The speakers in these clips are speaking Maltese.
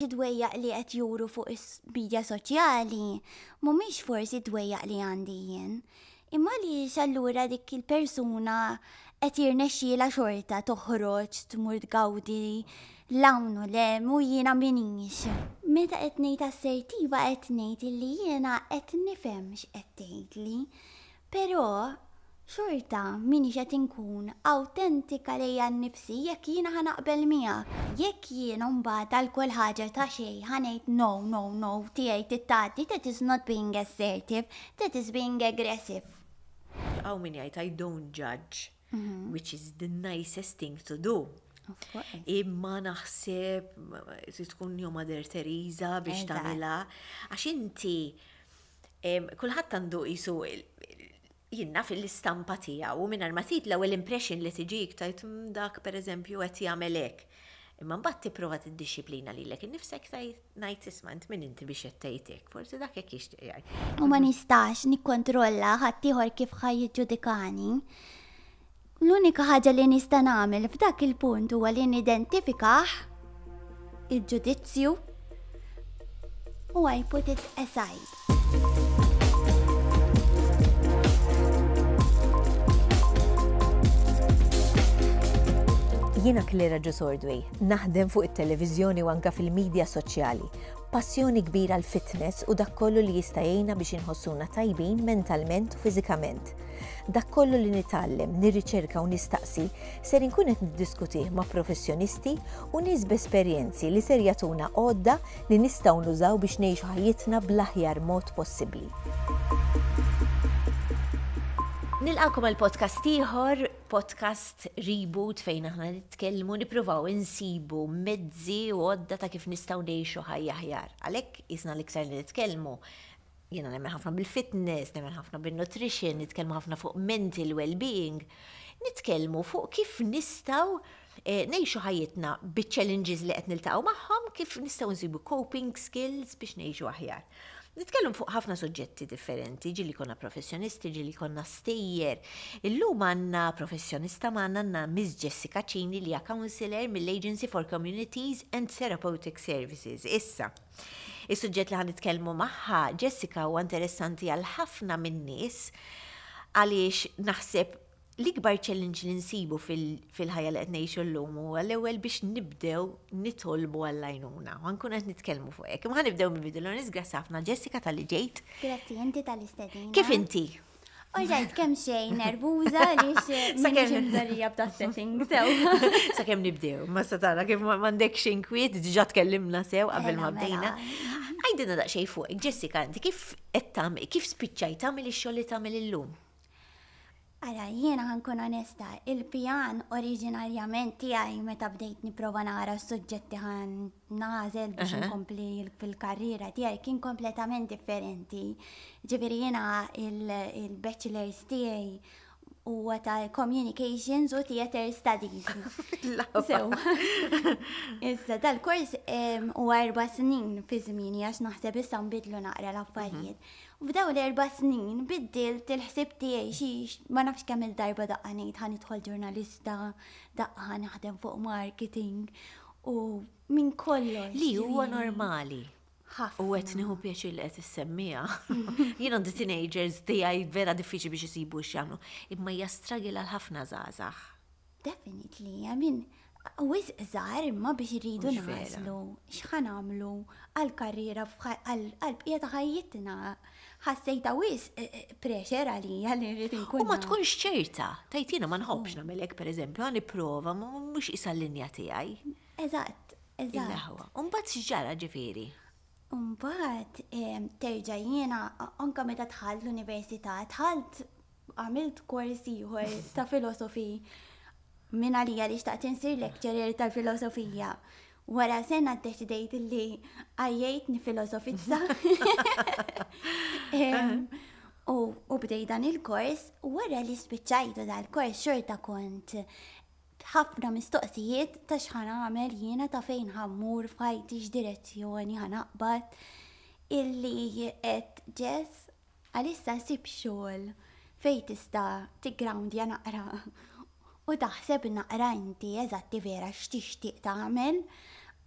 Id-dwejjaq li qed juru fuq is-midja soċjali mhumiex forsi d-dwejjaq li għandi jien. Imma għaliex allura dik il-persuna qed jirnexxielha xorta toħroġ tmur tgawdi 'l hawn u 'l hemm u jiena m'iniex. Meta qed ngħid assertiva qed ngħid illi jiena qed nifhem x'qed tgħidli. Però xorta m'iniex qed inkun awtentika lejja nnifsi jekk jiena ħa naqbel miegħek. Jekk jiena mbagħad għal kull ħaġa ta' xejn ħa ngħid no, no, no, tiegħi trid tgħaddi, that is not being assertive, that is being aggressive. Hawn min jgħid I don't judge, which is the nicest thing to do. Imma naħseb trid tkun jew Mother Teresa biex tagħmilha għax inti Kulħadd għandu qisu jien naf l-istampa tiegħu u mingħajr ma tgħid l-ewwel impression li tiġik tgħid mm, dak pereżempju qed jagħmel hekk. Imma mbagħad tipprova tiddixxiplina lilek innifsek tgħid ngħid isma' int min inti biex qed tgħid hekk, forsi dak hekk jixtieq jgħid. U ma nistax nikkontrolla ħaddieħor kif ħa jiġġudikani. L-unika ħaġa li nista' nagħmel f'dak il-punt huwa li nidentifikah il-ġudizzju u I put it aside. Jiena Claire Ġusordway, naħdem fuq it-televiżjoni u anka fil-medja soċjali. Passjoni kbira l-fitness u dak kollu li jista' jgħinna biex inħossuna tajbin mentalment u fiżikament. Dak kollu li nitgħallem, nirriċerka u nistaqsi ser inkun qed niddiskutih ma' professjonisti u nies b'esperjenzi li ser jagħtuna għodda li nistgħu nużaw biex ngħixu ħajjitna bl-aħjar mod possibbli. Nilqakom għal podcast ieħor, podcast reboot fejn aħna nitkellmu nippruvaw insibu mezzi u għodda ta' kif nistgħu ngħixu ħajja aħjar. Għalhekk isna l-iktar li nitkellmu Jiena nemmen ħafna bil-fitness, nemmen ħafna bil-nutrition, nitkellmu ħafna fuq mental well-being, nitkellmu fuq kif nistgħu eh, ngħixu ħajjitna biċ-challenges li qed niltaqgħu magħhom, kif nistgħu nsibu coping skills biex ngħixu aħjar. Nitkellmu fuq ħafna suġġetti differenti, ġili konna professjonisti, ġili konna stejjer. Illum għandna professjonista magħna għandna Miss Jessica Cini li hija counselor mill-Agency for Communities and Therapeutic Services. Issa, Is-suġġett li ħa nitkellmu magħha, Jessica, huwa interessanti għal ħafna min-nies għaliex naħseb l-ikbar challenge li nsibu fil-ħajja li qed ngħixu llum huwa l-ewwel biex nibdew nitolbu għall-għajnuna. U nkun qed nitkellmu fuq hekk. Imma nibdew mill-bidu l grazzi ħafna Jessica talli ġejt. Grazzi inti tal-istedina. Kif inti? Oġajt kemm xejn nervuża għaliex sakemm imdorrija b'da setting sew. Sakemm nibdew, ma sa tara kif m'għandekx inkwiet, diġà tkellimna sew qabel ma mela, bdejna. Mela. Għajdilna daqsxejn fuq, Jessica, inti kif qed tagħmel, kif spiċċajt tagħmel ix-xogħol li tagħmel illum? Ara, jiena ħankun onesta, il-pjan oriġinarjament tiegħi meta bdejt nipprova nara s-suġġetti ħan nagħżel biex inkompli fil-karriera tiegħi kien kompletament differenti. Ġifieri jiena il-bachelor's tiegħi huwa ta' communications u theater studies. Sew. Issa dal-kors huwa erba' snin fi żmieni għax naħseb issa nbidlu naqra l-affarijiet. Mhm. F'dawn l-erba' snin biddilt il-ħsieb tiegħi xi ma nafx kemm il-darba daqqa ngħid ħa nidħol ġurnalista, daqqa ħa naħdem fuq marketing u minn kollox. Li huwa normali. Ħafna. U qed nieħu pjaċir li qed issemmiha. Jien għandi teenagers tiegħi vera diffiċli biex isibu x'jagħmlu. Imma hija struggle għal ħafna żgħażagħ. Definitely, I mean, wisq żgħar imma biex iridu nagħżlu x'ħa nagħmlu għall-karriera għall-bqija ta' ħajjitna. Ħassejtha wisq eh, eh, pressure għalija li rrid inkun. U ma tkunx ċerta, tajt jiena ma nħobbx nagħmel hekk pereżempju, ħa nipprova mhux isa l-linja tiegħi. Eżatt, eżatt. Il-aħwa. U mbagħad x'ġara ġifieri? Mbagħad terġa' jiena anke meta dħalt l-università, dħalt għamilt kors ieħor ta' filosofi minn għalija li xtaqt insir lecturer tal-filosofija. Wara sena ddeċidejt li għajjejt nifilosofizza. U bdej dan il-kors, wara li spiċċajtu dal-kors xorta kont ħafna mistoqsijiet ta' x'ħa nagħmel jiena ta' fejn ħa mmur f'ħajti x'direzzjoni ħa naqbad illi qed Jess għalissa sib xogħol fejn tista' tiggrawndja naqra u taħseb naqra inti eżatti vera x'tixtieq tagħmel.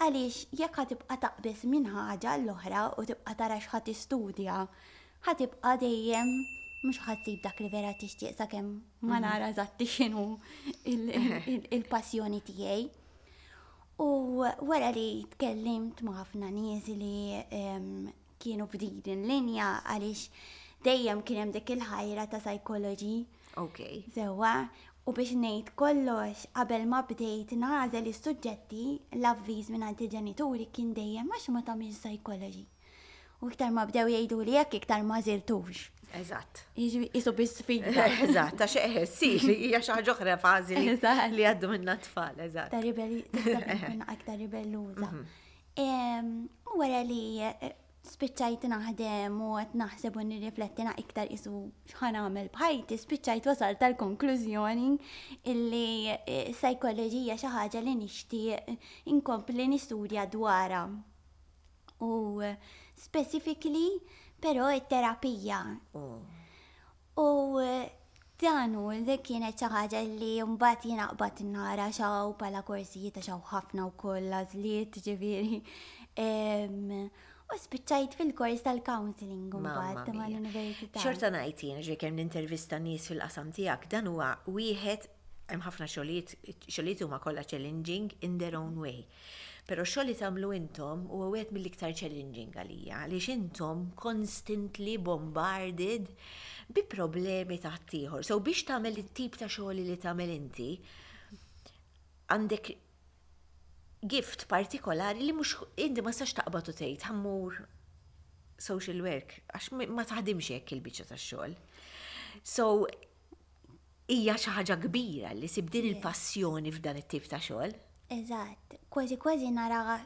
Għaliex jekk ħa tibqa' taqbeż minn ħaġa għall-oħra u tibqa' tara x'ħa tistudja, ħa tibqa' dejjem mhux ħa tsib dak li vera tixtieq sakemm ma mhm. nara eżatti x'inhu il-passjoni tiegħi. U wara li tkellimt ma' ħafna nies li kienu f'din il-linja għaliex dejjem kien hemm dik il-ħajra ta' psychology. Ok. Sewwa, u biex ngħid kollox qabel ma bdejt nagħżel is-suġġetti, l-avviż mingħand il-ġenituri kien dejjem għax ma tagħmilx psychology. U iktar ma bdew jgħiduli hekk iktar ma għażiltux. Eżatt. Jiġifieri bi sfida. Eżatt, għax eħe, si, hija xi ħaġa oħra fażi li għaddu minna tfal, eżatt. Ta' ribelli, aktar ribelluża. Mhm. U wara li eh, spiċċajt naħdem u qed naħseb u nirrifletti na iktar isu x'ħa nagħmel b'ħajti, spiċċajt wasalt tal-konklużjoni illi eh, sajkoloġija xi ħaġa li nixtieq inkompli nistudja dwarha. U eh, specifically però it-terapija. Oh. U dan hu li kienet xi ħaġa li mbagħad jiena qbadt nara x'hawn bħala korsijiet għax hawn ħafna wkoll għażliet ġifieri. U spiċċajt fil-kors tal-counselling mbagħad mal-università. Xorta ngħid jien ġej kemm nintervista nies fil-qasam tiegħek dan huwa wieħed hemm ħafna xogħlijiet, xogħlijiet huma kollha challenging in their own way. Però x-xogħol li tagħmlu intom huwa wieħed mill-iktar challenging għalija, għaliex intom constantly bombarded bi problemi ta' ħaddieħor. So biex tagħmel it-tip ta' xogħol li tagħmel inti, għandek gift partikolari li mhux inti ma tistax taqbad u tgħid ħammur social work għax ma taħdimx hekk il-biċċa tax-xogħol. So Hija xi ħaġa kbira li sib din il-passjoni f'dan it-tip ta' xogħol. Eżatt, kważi kważi nara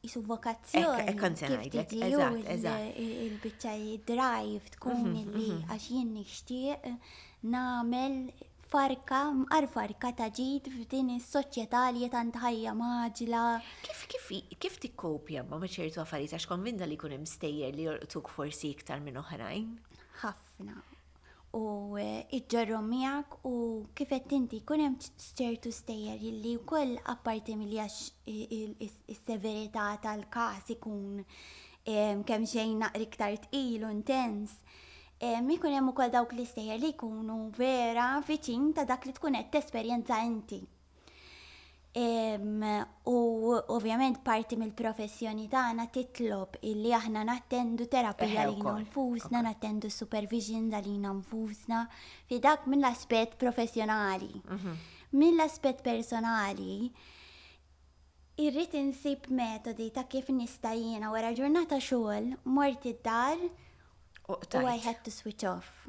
jisu vokazzjoni. Hekk kont se ngħidlek, eżatt, eżatt. Il-biċċa drive tkun mhm, li mhm. għax jien nixtieq nagħmel farka, mqar farka ta' ġid f'din is-soċjetà li tant ħajja maġla. Kif kif kif tikkopja ma' ċertu affarijiet għax konvinta li jkun hemm stejjer li jolqtuk forsi iktar minn oħrajn? Ħafna. u iġġorrhom miegħek u kif għedt inti jkun hemm ċertu stejjer li wkoll apparti milli għax is-severità tal-każ ikun kemm xejn naqra iktar tqil u intens, ikun hemm ukoll dawk l-istejjer li jkunu vera viċin ta' dak li tkun qed tesperjenza inti. U ovvjament parti mill-professjoni tagħna titlob illi aħna nattendu terapija lilna nfusna, nattendu supervision għalina nfusna, fi dak mill-aspett professjonali. Mhm. Mill-aspett personali, irrid insib metodi ta' kif nista' jiena wara ġurnata xogħol mort id-dar u I had to switch off.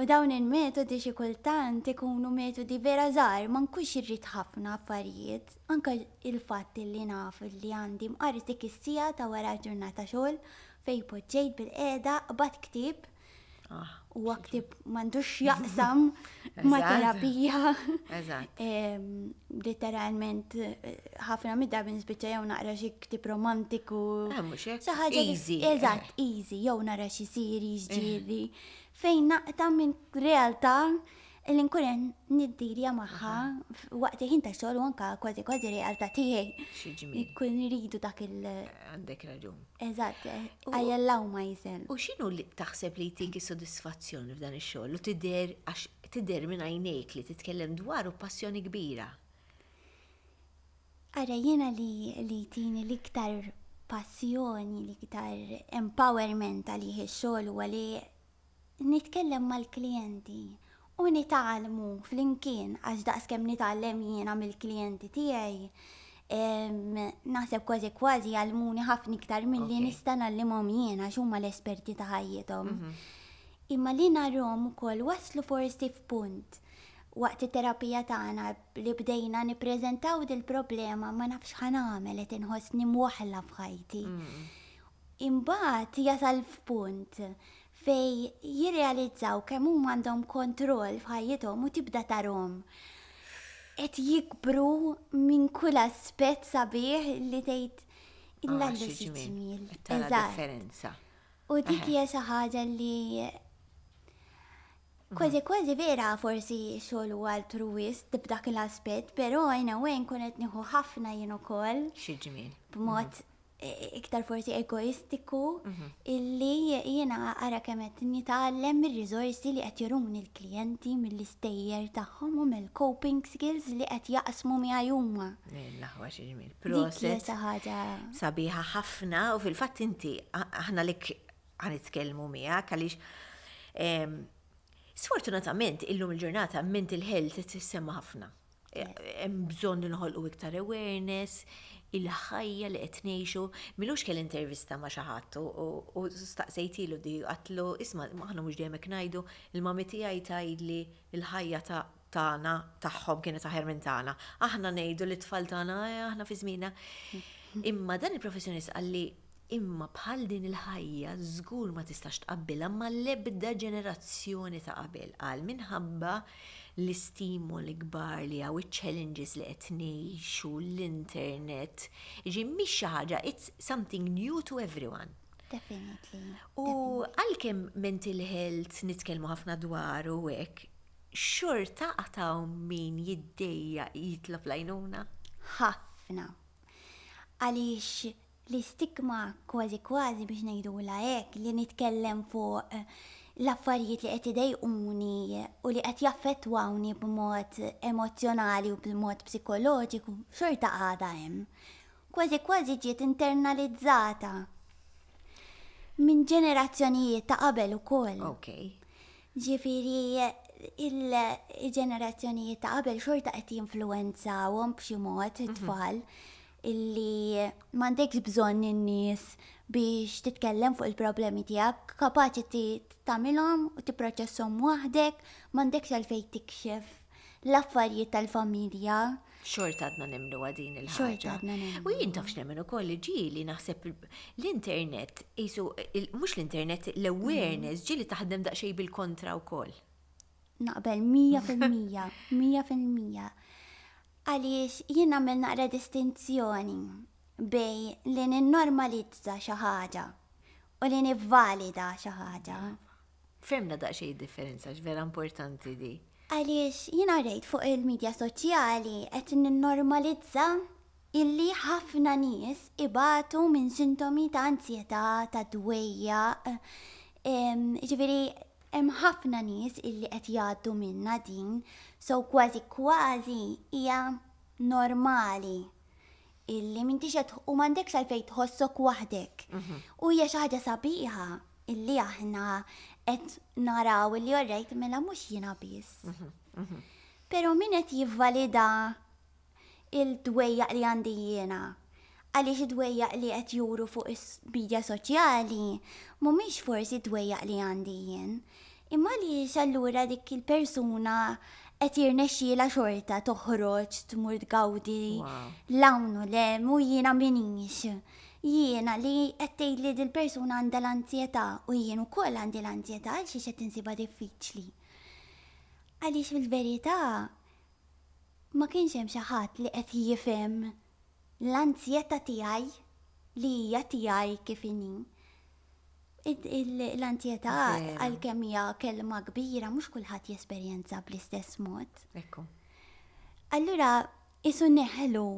U dawn il-metodi xi kultant ikunu metodi vera żgħar, ma nkunx irrid ħafna affarijiet, anke il-fatt li naf li għandi mqar dik is-siegħa ta' wara ġurnata xogħol fejn poġġejt bilqiegħda qbadt ktieb ah, huwa ktieb m'għandux x'jaqsam ma' terapija. Eżatt. Literalment ħafna mid-drabi nispiċċa jew naqra xi ktieb romantiku. Eh, mhux hekk. Xi ħaġa Easy. Eżatt, easy, jew nara xi series ġieli fejn naqta' minn realtà li nkun qed niddilja magħha waqt il-ħin tax-xogħol u anke kważi kważi realtà tiegħi. Xi ġmiel. Ikun iridu dak il- Għandek raġun. Eżatt, I allow myself. U x'inhu li taħseb li jtik is-sodisfazzjon f'dan ix-xogħol u tidher għax tidher minn għajnejk li titkellem dwaru b'passjoni kbira? Ara jiena li li jtini l-iktar passjoni, l-iktar empowerment għalih ix-xogħol huwa li nitkellem mal-klijenti u nitgħallmu flimkien għax daqskemm nitgħallem jiena mill-klijenti tiegħi, naħseb kważi kważi jgħallmuni ħafna iktar milli nista' ngħallimhom jien għax huma l-esperti ta' ħajjithom. Mhm. Imma li narhom ukoll waslu forsi f'punt waqt it-terapija tagħna li bdejna nippreżentaw dil-problema ma nafx ħa nagħmel qed inħossni mwaħħla f'ħajti. Mm. Imbagħad jasal f'punt fejn jirrealizzaw kemm huma għandhom kontroll f'ħajjithom u tibda tarhom qed jikbru minn kull aspett sabiħ li tgħid illallu xi ġmiel. Tara differenza. U dik hija xi ħaġa li. Kważi kważi vera forsi xogħol huwa altruwist b'dak l-aspett, però in a way nkun qed nieħu ħafna jien ukoll. Xi ġmiel. B'mod iktar forsi egoistiku illi jiena ara kemm qed nitgħallem mir-riżorsi li qed juruni l-klijenti mill-istejjer tagħhom u mill-coping skills li qed jaqsmu miegħi huma. L-aħwa xi ġmiel. Proset. Xi ħaġa sabiħa ħafna u fil-fatt inti aħna lek ħa nitkellmu miegħek għaliex sfortunatament illum il-ġurnata mental health tissemma ħafna. Hemm bżonn nħolqu iktar awareness, il-ħajja li qed ngħixu. M'ilux kelli intervista ma' xi ħadd u staqsejtilu di għedtlu isma' aħna mhux dejjem hekk ngħidu, il-mami tiegħi tgħidli l-ħajja ta' tagħna tagħhom kienet aħjar minn tagħna. Aħna ngħidu li t-tfal tagħna aħna fi żmienna. Imma dan il-professjonist qalli imma bħal din il-ħajja żgur ma tistax tqabbilha mal-ebda ġenerazzjoni ta' qabel qal minħabba l-istimoli kbar li hawn, iċ-challenges li qed ngħixu, l-internet. Ġi mhix xi ħaġa, it's something new to everyone. Definitely. U għalkemm mental health nitkellmu ħafna dwaru hekk, xorta għad hawn min jiddejjaq jitlob l-għajnuna? Ħafna. Għaliex l-istigma kważi kważi biex ngħidula hekk li nitkellem fuq l-affarijiet li qed idejquni u li qed jaffettwawni b'mod emozjonali u b'mod psikoloġiku, xorta għadha hemm. Kważi kważi ġiet internalizzata minn ġenerazzjonijiet ta' qabel ukoll. Ġifieri il-ġenerazzjonijiet ta' qabel xorta qed jinfluwenzawhom b'xi mod it-tfal illi m'għandekx bżonn in-nies biex titkellem fuq il-problemi tiegħek, kapaċi tagħmilhom u tipproċesshom waħdek, m'għandekx għalfejn tikxef l-affarijiet tal-familja. Xorta għadna nemmnu din il-ħaġa. Xorta għadna nemmnu. U jien taf x'nemmen ukoll li ġieli naħseb l-internet, qisu mhux l-internet, l-awareness ġieli taħdem daqsxejn bil-kontra wkoll. Naqbel 100%, 100%. Għaliex jien nagħmel naqra distinzjoni bejn li ninnormalizza xi ħaġa u li nivvalida xi ħaġa. Fehmna daqsxejn differenza, vera importanti di. Għaliex jiena rejt fuq il-medja soċjali qed ninnormalizza illi ħafna nies ibatu minn sintomi ta' ansjetà, ta' dwejjaq. Ġifieri hemm ħafna nies illi qed jgħaddu minna din, so kważi kważi hija normali illi m'intix qed u m'għandekx għalfejn tħossok waħdek. U hija xi ħaġa sabiħa illi aħna qed naraw illi alright mela mhux jiena biss. Però min qed jivvalida il-dwejjaq li għandi jiena? Għaliex id-dwejjaq li qed juru fuq is-media soċjali mhumiex forsi dwejjaq li għandi jien. Imma għaliex allura dik il-persuna qed jirnexxielha xorta toħroġ tmur tgawdi l-hawn u l-hemm u jiena minix. Jiena li qed tgħid li dil-persuna għandha l-anzjetà u jien ukoll għandi l-anzjetà għal xiex qed insibha diffiċli. Għaliex fil-verità ma kienx hemm xi ħadd li qed jifhem l-anzjetà tiegħi li hija tiegħi kif inhi. L-anzjetà għalkemm hija kelma kbira mhux kulħadd jesperjenza bl-istess mod. Ekku. Allura isu neħlu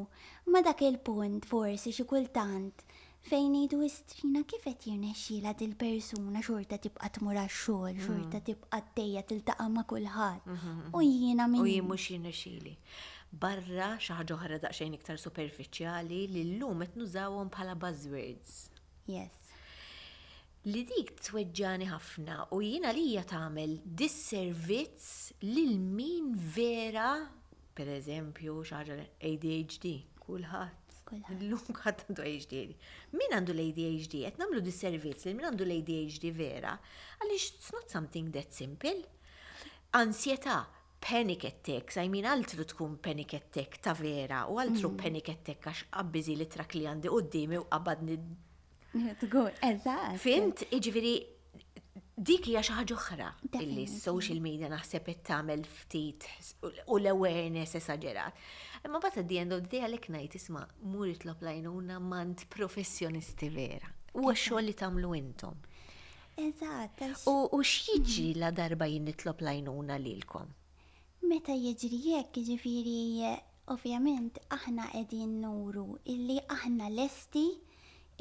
ma dak il-punt forsi xi kultant fejn ngħidu istrina kif qed jirnexxielha dil-persuna xorta tibqa' tmur għax-xogħol, xorta tibqa' għaddejja tiltaqa' ma' kulħadd. U jiena min. U jien mhux jirnexxieli. Barra xi ħaġa oħra daqsxejn iktar superfiċjali li llum qed nużawhom bħala buzzwords. Yes. Li dik tweġġani ħafna u jiena lija tagħmel disservizz lil min vera, per eżempju, xi ħaġa ADHD, kulħadd. Illum kulħadd għandu ADHD. Min għandu l-ADHD? Qed nagħmlu disservizz lil min għandu l-ADHD vera, għaliex it's not something that simple. Ansjetà, panic attacks, I mean altru tkun panic attack ta' vera u altru panic attack għax qabbiżi li trak li għandi quddiemi u qabadni. Eżatt. Fhimt, jiġifieri dik hija xi ħaġa oħra illi social media naħseb qed tagħmel ftit u l-awareness esaġerat. Imma but at the end of the day għalhekk ngħid isma' mur itlob l-għajnuna m'għand professjonisti vera. Huwa xogħol li tagħmlu intom. Eżatt. U x'jiġri la darba jien nitlob l-għajnuna lilkom? Meta jiġri hekk, jiġifieri ovvjament aħna qegħdin nuru illi aħna lesti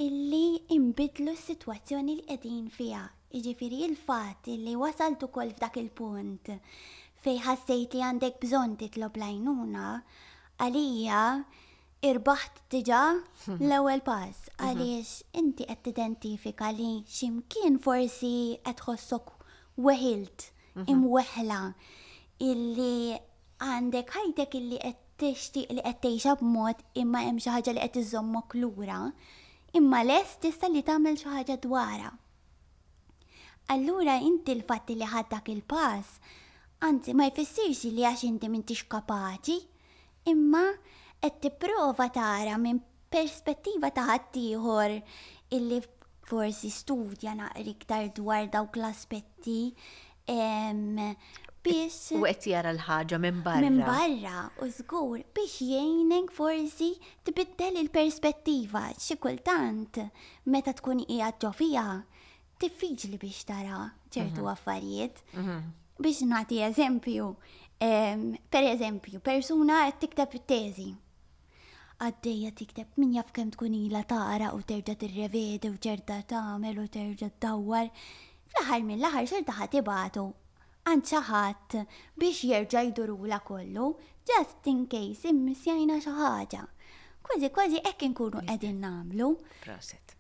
illi nbiddlu s-sitwazzjoni li qegħdin fiha. Jiġifieri il-fatt illi wasalt ukoll f'dak il-punt fejn ħassejt li għandek bżonn titlob l-għajnuna, għalija irbaħt diġà l-ewwel pass għaliex inti qed tidentifika li xi mkien forsi qed tħossok weħilt, imweħħla, illi għandek ħajtek illi qed tixtieq li qed tgħixha b'mod imma hemm xi ħaġa li qed iżżommok lura, imma lest issa li tagħmel xi ħaġa dwarha. Allura inti l-fatt li ħadt dak il-pass, anzi ma jfissirx li għax inti m'intix kapaċi, imma qed tipprova tara minn perspettiva ta' ħaddieħor illi forsi studja naqra iktar dwar dawk l-aspetti biex. U qed jara l-ħaġa minn barra. Minn barra, u żgur biex jgħinek forsi tbiddel il-perspettiva. Xi kultant meta tkun qiegħed ġo fiha diffiċli biex tara ċertu affarijiet. Biex nagħti eżempju, per eżempju, persuna qed tikteb it-teżi. Għaddejja tikteb min jaf kemm tkun ilha taqra u terġa' tirrevedi u terġa' tagħmel u terġa' ddawwar. Fl-aħħar mill-aħħar xorta ħa tibgħatu għand xi ħadd biex jerġa' jdurulha kollu just in case immissjajna xi ħaġa. Kważi kważi hekk inkunu qegħdin nagħmlu. Proset.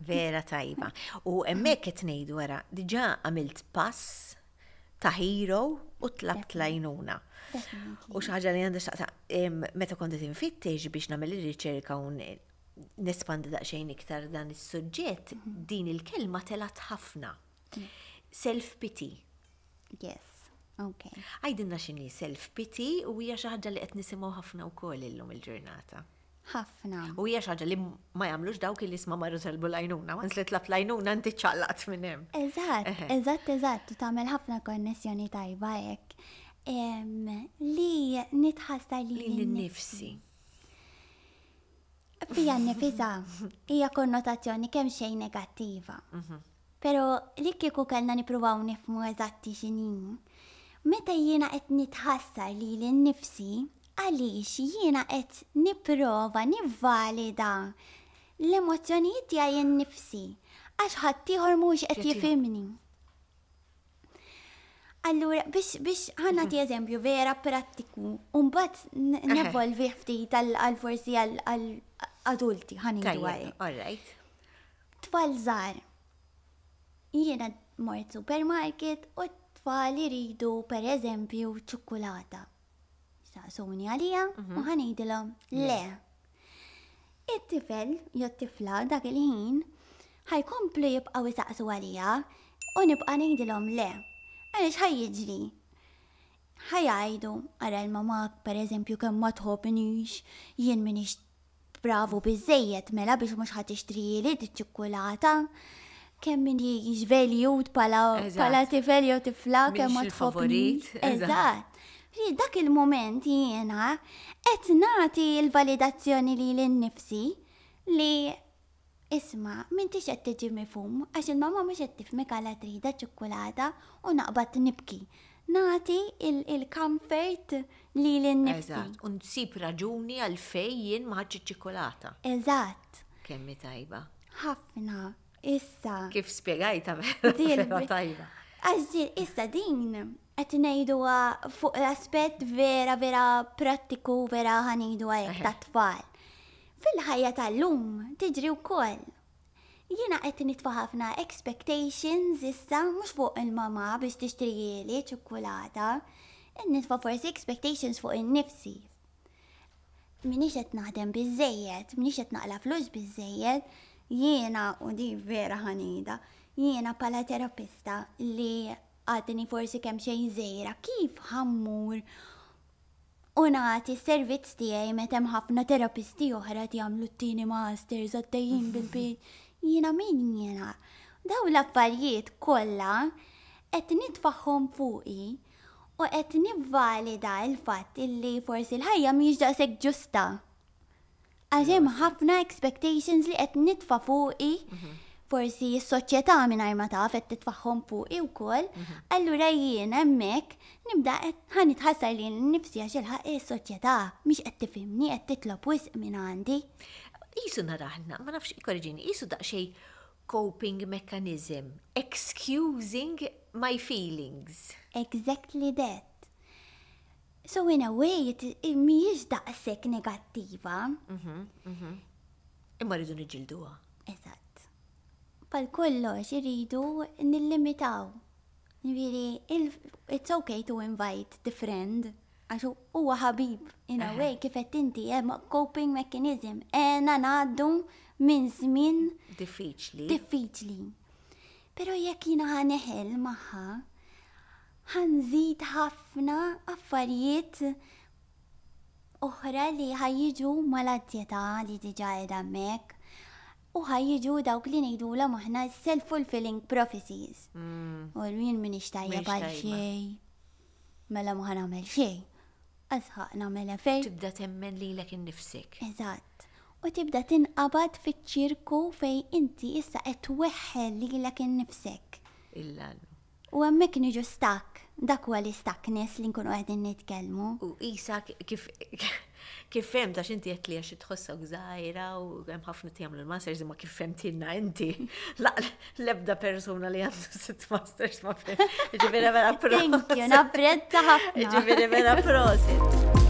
Vera tajba. U hemmhekk qed ngħidu wara, diġà għamilt pass ta' hero u tlabt l-għajnuna. U xi ħaġa li għandha x'taqsam, meta kont qed infittex biex nagħmel ir-riċerka u nespandi daqsxejn iktar dan is-suġġett, din il-kelma telgħet ħafna. Self-pity. Yes, okay. Għidilna x'inhi self-pity u hija xi ħaġa li qed nisimgħu ħafna wkoll illum il-ġurnata. Ħafna. U hija xi ħaġa li ma jagħmlux dawk li isma' marru talbu l-għajnuna, once li tlab l-għajnuna inti ċċaqlaqt minn hemm. Eżatt, eżatt, eżatt, u tagħmel ħafna konnessjoni tajba hekk. Li nitħassar lili nnifsi. Fija nnifisha hija konnotazzjoni kemm xejn negattiva. Però li kieku kellna nippruvaw nifhmu eżatti x'inhi, meta jiena qed nitħassar lili nnifsi, għaliex jiena qed nipprova nivvalida l-emozzjonijiet tiegħi nnifsi għax ħaddieħor mhuwiex qed jifhimni. Allura, biex, biex ħa nagħti eżempju vera prattiku, u mbagħad nevolvih ftit għal forsi għal adulti ħa ngħidu hekk. All right. Tfal żgħar. Jiena mort supermarket u t-tfal iridu per eżempju ċukkulata. Saqsuni għalija u ħa ngħidilhom le. It-tifel jew t-tifla dak il-ħin ħa jkomplu jibqgħu jsaqsu għalija u nibqa' ngħidilhom le. Għaliex ħa jiġri? Ħa jgħidu, ara l-mamà pereżempju kemm ma tħobbnix, jien m'iniex Bravu biżżejjed mela biex mhux ħa tixtrihieli diċ-ċikkulata. Kemm minix valued bħala bħala tifel jew tifla kemm ma tħobbnix. Eżatt. Dak il-mument jiena qed nagħti l-validazzjoni lili nnifsi li Isma', m'intix qed tiġi mifhum għax il-mamà mhux qed tifhmek għala tridha ċ-ċikkulata u naqbad nibki. Nagħti il-comfort lili nnifsi. Eżatt, u nsib raġuni għalfejn jien ma ħadtx iċ-ċikkulata. Eżatt. Kemm hi tajba. Ħafna. Issa. Kif spjegajtha vera tajba. Għax issa din qed ngħiduha fuq l-aspett vera vera prattiku vera ħa ngħiduha hekk tat-tfal. Fil-ħajja tal-lum tiġri wkoll. Jiena qed nitfa' ħafna expectations issa mhux fuq il-mamà biex tixtrihieli ċikkulata, qed nitfa' forsi expectations fuq innifsi. M'iniex qed naħdem biżżejjed, m'iniex qed naqla' flus biżżejjed, jiena u din vera ħa ngħidha, jiena bħala terapista li għadni forsi kemxejn żgħira kif ħa mmur u nagħti s-servizz tiegħi meta hemm ħafna terapisti oħra qed jagħmlu t-tieni masters għaddejjin bil-bit. Jiena min jiena? Dawn l-affarijiet kollha qed nitfagħhom fuqi u qed nivvalida l-fatt illi forsi l-ħajja mhijiex daqshekk ġusta. Għax hemm ħafna expectations li qed nitfa' fuqi mhm. forsi s-soċjetà mingħajr ma taf qed titfagħhom fuqi wkoll, allura jien hemmhekk nibda qed ħa nitħassar lili nnifsi għax il-ħaqq is-soċjetà mhix qed tifhimni qed titlob wisq minn għandi. Qisu naraħna, ma nafx ikkoreġini, qisu daqsxejn coping mechanism, excusing my feelings. Exactly that. So in a way, mhijiex daqshekk negattiva. Mhm, mhm. Imma rridu niġġilduha. Eżatt. Bħal kollox irridu nillimitaw. Ġifieri, it's okay to invite the friend, għax huwa ħabib, in a way, kif qed inti hemm coping mechanism, għena ngħaddu minn żmien diffiċli. Diffiċli. Però jekk jiena ħa neħel magħha, ħa nżid ħafna affarijiet oħra li ħa jiġu mal-anzjetà li diġà qiegħda hemmhekk u ħa jiġu dawk li ngħidulhom aħna self-fulfilling prophecies. Mm. U jien m'iniex tajjeb għal xejn. Mela ma ħa nagħmel xejn. Asħaq nagħmel effort. Tibda temmen lilek innifsek. Eżatt. U tibda tinqabad fiċ-ċirku fejn inti issa qed tweħħel lilek innifsek. Illa U hemmhekk niġu stuck, dak huwa l-istuckness li nkunu qegħdin nitkellmu. U qisha kif kif fhemt għax inti għedt li għax tħossok żgħira u hemm ħafna ti jagħmlu l-masters imma kif fhemtilna inti l-ebda persuna li għandu sitt masters ma fhem. Ġifieri vera prosit. Thank you, napprezza ħafna. Ġifieri vera prosit.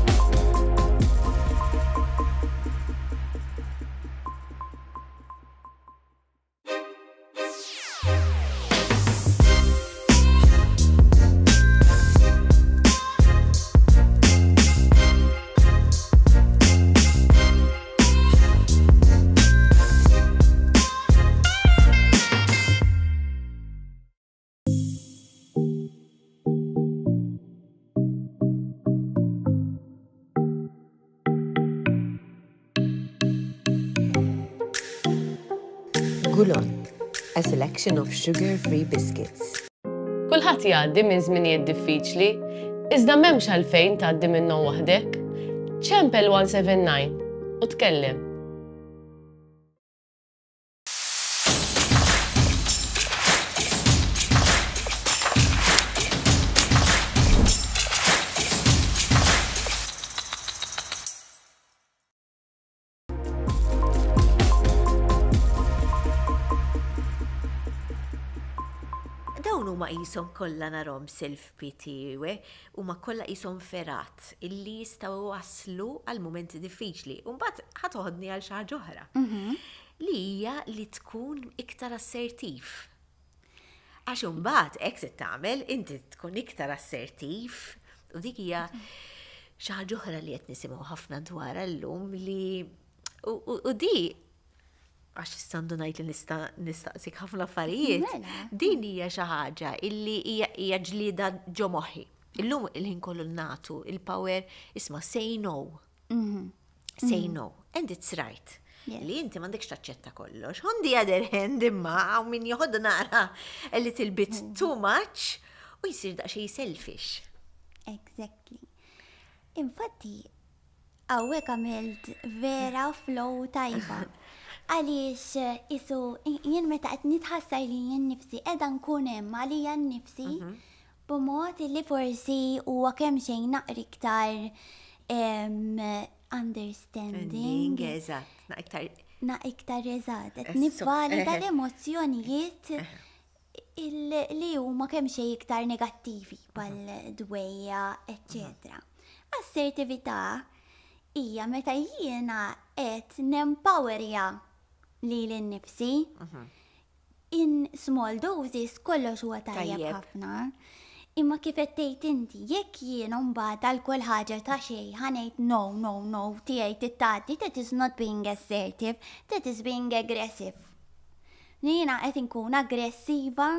Gulon, a selection of sugar-free biscuits. Kulħadd jgħaddi minn żminijiet diffiċli, iżda m'hemmx għalfejn tgħaddi minnhom waħdek. Ċempel 179 u tkellem. Dawn huma qishom kollha narhom self-pity, huma kollha qishom fergħat illi jistgħu iwasslu għal mumenti diffiċli. U mbagħad ħa toħodni għal xi ħaġa oħra. Mhm. Li hija li tkun iktar assertiv. Għax imbagħad hekk se tagħmel inti tkun iktar assertiv u dik hija xi ħaġa oħra li qed nisimgħu ħafna dwarha llum li u di għax issa ngħid li nista' nistaqsik ħafna affarijiet. Mela. Din hija xi ħaġa illi hija ġlieda ġo moħħi. Illum il-ħin kollu nagħtu il-power isma' say no. Mhm. Say mhm. no. And it's right. Li inti m'għandekx taċċetta kollox. On the other hand, imma hawn min joħodha naqra a little bit mhm. too much u jsir daqsxejn selfish. Exactly. Infatti, hawnhekk għamilt vera flow tajba. Għaliex isu jien meta qed nitħassar li jien nifsi qiegħda nkun hemm għalija nnifsi mhm. B'mod li forsi huwa kemxejn naqra iktar understanding. Eżatt, naqra iktar. Naqra iktar eżatt, qed nivvalida l-emozzjonijiet li huma kemxejn iktar negattivi bħal dwejja, eċċetera. Assertività hija meta jiena qed nempowerja lili nnifsi. In small doses kollox huwa tajjeb ħafna. Imma kif qed tgħid inti, jekk jien mbagħad għal kull ħaġa ta' xejn ħa ngħid no, no, no, tiegħi trid tgħaddi, that is not being assertive, that is being aggressive. Jiena qed inkun aggressiva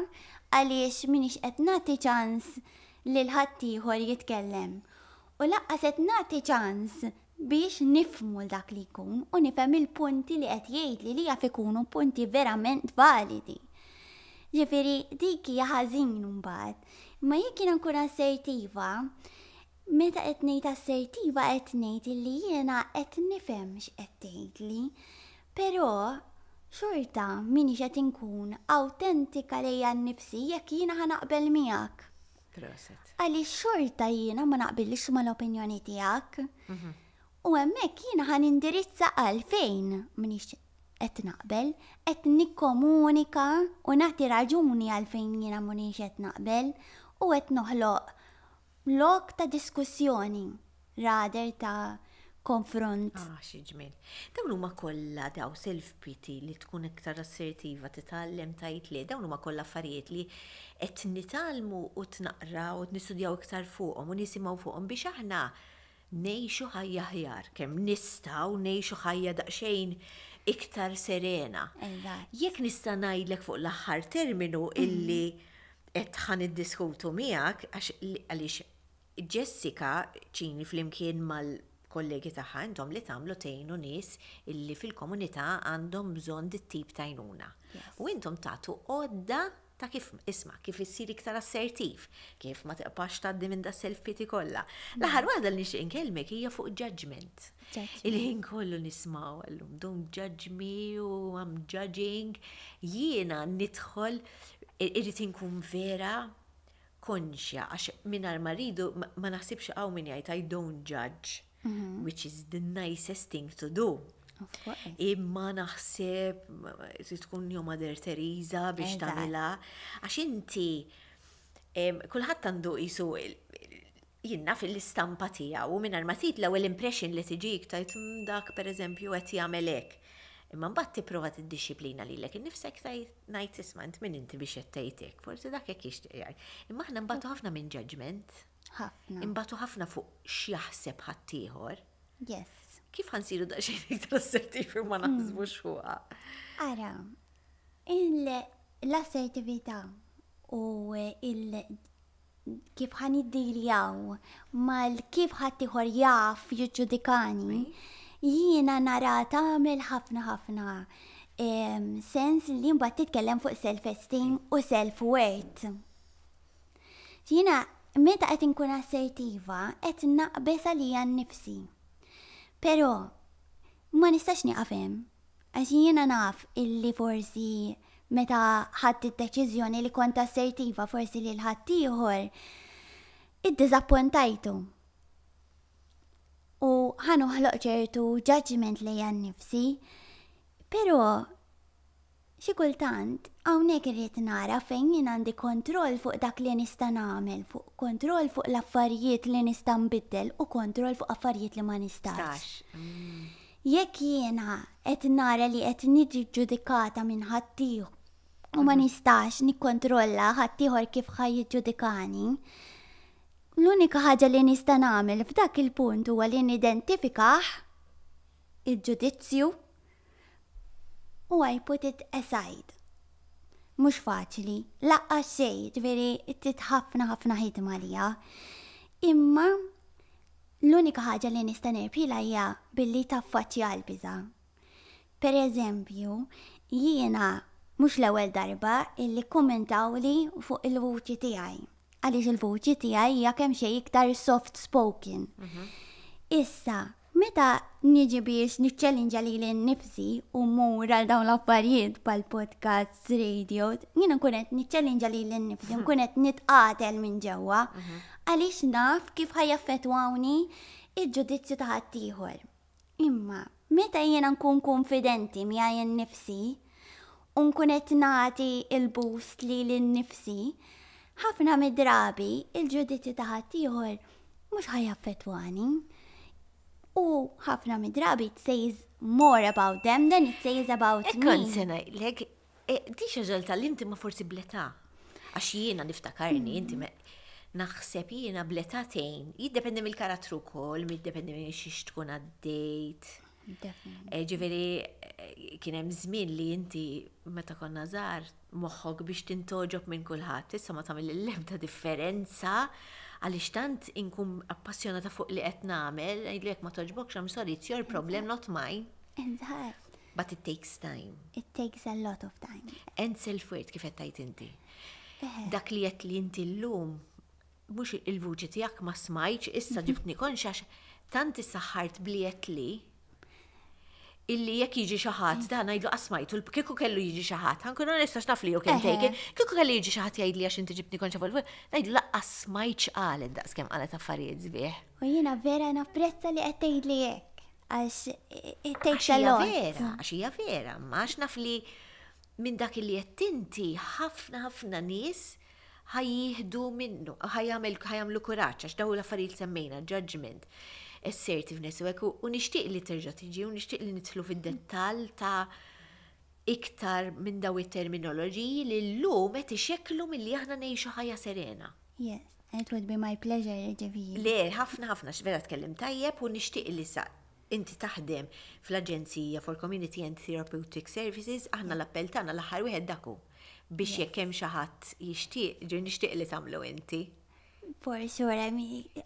għaliex m'iniex qed nagħti ċans lil ħaddieħor jitkellem. U lanqas qed nagħti ċans biex nifhmu 'l dak li jkun u nifhem il-punti li qed jgħidli li jaf ikunu punti verament validi. Ġifieri dik hija ħażin imbagħad. Imma jekk jiena nkun assertiva, meta qed ngħid assertiva qed ngħid illi jiena qed nifhem x'qed tgħidli, però. Xorta m'iniex qed inkun awtentika lejja nnifsi jekk jiena ħa naqbel miegħek. Proset. Għaliex xorta jiena ma naqbilx mal-opinjoni tiegħek. U hemmhekk jiena ħa nindirizza għalfejn m'iniex qed naqbel, qed nikkomunika u nagħti raġuni għalfejn jiena m'iniex qed naqbel u qed noħloq lok ta' diskussjoni rather ta' konfront. Ah, xi ġmiel. Dawn huma kollha daw self-pity li tkun iktar assertiva, titgħallem tgħid le, dawn huma kollha affarijiet li qed nitgħallmu u tnaqraw u nistudjaw iktar fuqhom u nisimgħu fuqhom biex aħna ngħixu ħajja aħjar, kemm nistgħu ngħixu ħajja daqsxejn iktar serena. Jekk nista' ngħidlek fuq l-aħħar terminu illi qed ħa niddiskutu miegħek għax għaliex Jessica Cini flimkien mal-kollegi tagħha intom li tagħmlu tgħinu nies illi fil-komunità għandhom bżonn dit-tip ta' għajnuna. U intom tagħtu għodda ta' kif isma' kif issir iktar assertiv, kif ma tibqax tgħaddi minn da self pity kollha. L-aħħar waħda li nixtieq inkellmek hija fuq judgment. Il-ħin kollu nismgħu llum don't judge me u I'm judging. Jiena nidħol irrid inkun vera konxja għax mingħajr ma rridu ma naħsibx hawn min jgħid I don't judge, which is the nicest thing to do. Imma naħseb trid tkun jew Mother Teresa biex tagħmilha għax inti kulħadd għandu qisu jien naf l-istampa tiegħu u mingħajr ma trid l-ewwel impression li tiġik tgħid dak pereżempju qed jagħmel hekk. Imma mbagħad tipprova tiddixxiplina lilek innifsek tgħid ngħid isma' int min inti biex qed tgħid hekk, forsi dak hekk jixtieq jgħid. Imma aħna nbatu ħafna minn judgment. Ħafna. Inbatu ħafna fuq x'jaħseb ħaddieħor. Yes. Kif ħa nsiru daqsxejn iktar assertivi u ma naħsbux fuqha? Ara, l-assertività u il kif ħa niddiljaw mal kif ħaddieħor jaf jiġġudikani, jiena nara tagħmel ħafna ħafna sens li mbagħad titkellem fuq self-esteem u self-worth. Jiena meta qed inkun assertiva qed naqbeż għalija nnifsi. Però ma nistax nieqaf hemm. Għax jiena naf illi forsi meta ħadt id-deċiżjoni li kont assertiva forsi lil ħaddieħor iddiżappuntajtu. U ħa noħloq ċertu judgment lejja nnifsi, però xi kultant hawnhekk irrid nara fejn jien għandi kontroll fuq dak li nista' nagħmel, fuq kontroll fuq l-affarijiet li nista' nbiddel u kontroll fuq affarijiet li ma nistax. Jekk jiena qed nara li qed niġi ġġudikata minn ħaddieħor u ma nistax nikkontrolla ħaddieħor kif ħa jiġġudikani, l-unika ħaġa li nista' nagħmel f'dak il-punt huwa li nidentifikah il-ġudizzju u I put it aside. Mhux faċli, lanqas xejn, ġifieri trid ħafna ħafna ħidma għaliha. Imma l-unika ħaġa li nista' nirbħilha hija billi taffaċċja l-biża'. Per eżempju, jiena mhux l-ewwel darba illi kkummentawli fuq il-vuċi tiegħi. Għaliex il-vuċi tiegħi hija kemm xejn iktar soft spoken. Issa, meta niġi biex niċċellinġa lili nnifsi u mmur għal dawn l-affarijiet bħal podcasts, radio, jiena nkun qed niċċellinġa lili nnifsi, nkun qed nitqatel minn ġewwa għaliex naf kif ħa jaffettwawni il-ġudizzju ta' ħaddieħor. Imma meta jiena nkun konfidenti miegħi nnifsi u nkun qed nagħti il-boost lili nnifsi, ħafna mid-drabi il-ġudizzju ta' ħaddieħor mhux ħa jaffettwani. U ħafna mid-drabi it says more about them than it says about me. Kont se ngħidlek, di xi ħaġa li tgħallimt imma forsi bl-età. Għax jiena niftakarni, inti naħseb jiena bl-età tgħin. Jiddependi mill-karattru wkoll, jiddependi minn xiex tkun għaddejt. Ġifieri kien hemm żmien li inti meta konna żgħar moħħok biex tintgħoġob minn kulħadd, issa ma tagħmel l-ebda differenza għaliex tant inkun appassjonata fuq li qed nagħmel, ngħidlek ma togħġbokx, I'm sorry, it's your problem, not mine. Eżatt. But it takes time. It takes a lot of time. And self-worth kif qed tgħid inti. Dak li qed li inti llum mhux il-vuċi tiegħek ma smajtx, issa ġibtni konxa għax tant issaħħart bli qed li. Illi jekk jiġi xi ħadd, dan ngħidlu qasmajtu, kieku kellu jiġi xi ħadd, ħa nkun onesta għax naf li you can take it, kieku kellu jiġi xi ħadd jgħidli għax inti ġibtni konxa fuq ngħidlu laqqas smajt x'qalet daqskemm qalet affarijiet sbieħ. U jiena vera napprezza li qed tgħidli hekk, għax it takes a lot. Vera, għax hija vera, ma għax naf li minn dak li qed inti ħafna ħafna nies ħa jieħdu minnu, ħa jagħmlu kuraġġ għax dawn l-affarijiet semmejna, judgment, assertiveness u hekk u nixtieq li terġa' tiġi u nixtieq li nidħlu fid-dettall ta' iktar minn daw it-terminoloġiji li llum qed ixekklu milli aħna ngħixu ħajja serena. Yes, it would be my pleasure, ġifieri. Le, ħafna ħafna vera tkellim tajjeb u nixtieq li sa inti taħdem fl-Aġenzija for Community and Therapeutic Services, aħna l-appell tagħna l-aħħar wieħed daku biex jekk hemm xi ħadd jixtieq, ġir nixtieq li tagħmlu inti. For sure, I mean,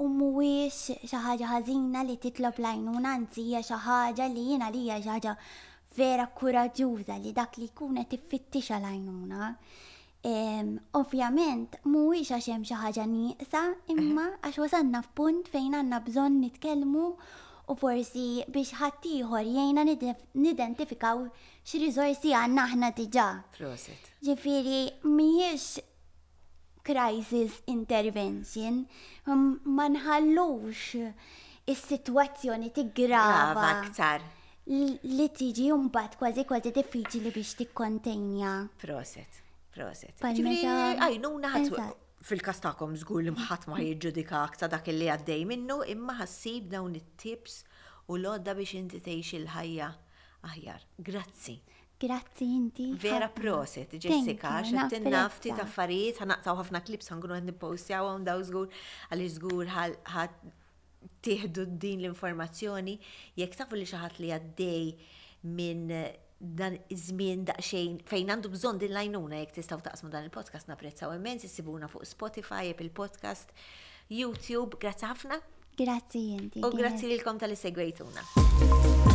u mhuwiex xi ħaġa ħażina li titlob l-għajnuna, anzi hija xi ħaġa li jiena li hija xi ħaġa vera kuraġġuża li dak li jkun qed iffittixha l-għajnuna. Ovvjament, mhuwiex għax hemm xi ħaġa nieqsa, imma għax wasalna f'punt fejn għandna bżonn nitkellmu u forsi biex ħaddieħor jgħinna nidentifikaw x'riżorsi għandna aħna diġà. Proset. Ġifieri mhijiex crisis intervention, ma nħallux is-sitwazzjoni tiggrava aktar. Li tiġi mbagħad kważi kważi diffiċli biex tikkontenja. Proset, proset. Ġifieri għajnuna fil-każ tagħkom żgur li ħadd ma jiġġudikak ta' dak li għaddej minnu, imma ħassib dawn it-tips u l-għodda biex inti tgħix il-ħajja aħjar. Grazzi. Grazzi inti. Vera proset, Jessica, xattinna ftit affarijiet, ħa naqtgħu ħafna clips ħa nkunu qed nippostjawhom daw żgur għaliex żgur ħa tieħdu din l-informazzjoni jekk tafu li xi ħadd li għaddej minn dan iż-żmien daqsxejn fejn għandu bżonn din l-għajnuna jekk tistgħu taqsmu dan il-podcast napprezzaw immens, issibuna fuq Spotify, Apple Podcast, YouTube. Grazzi ħafna. Grazzi inti. U grazzi lilkom talli segwejtuna.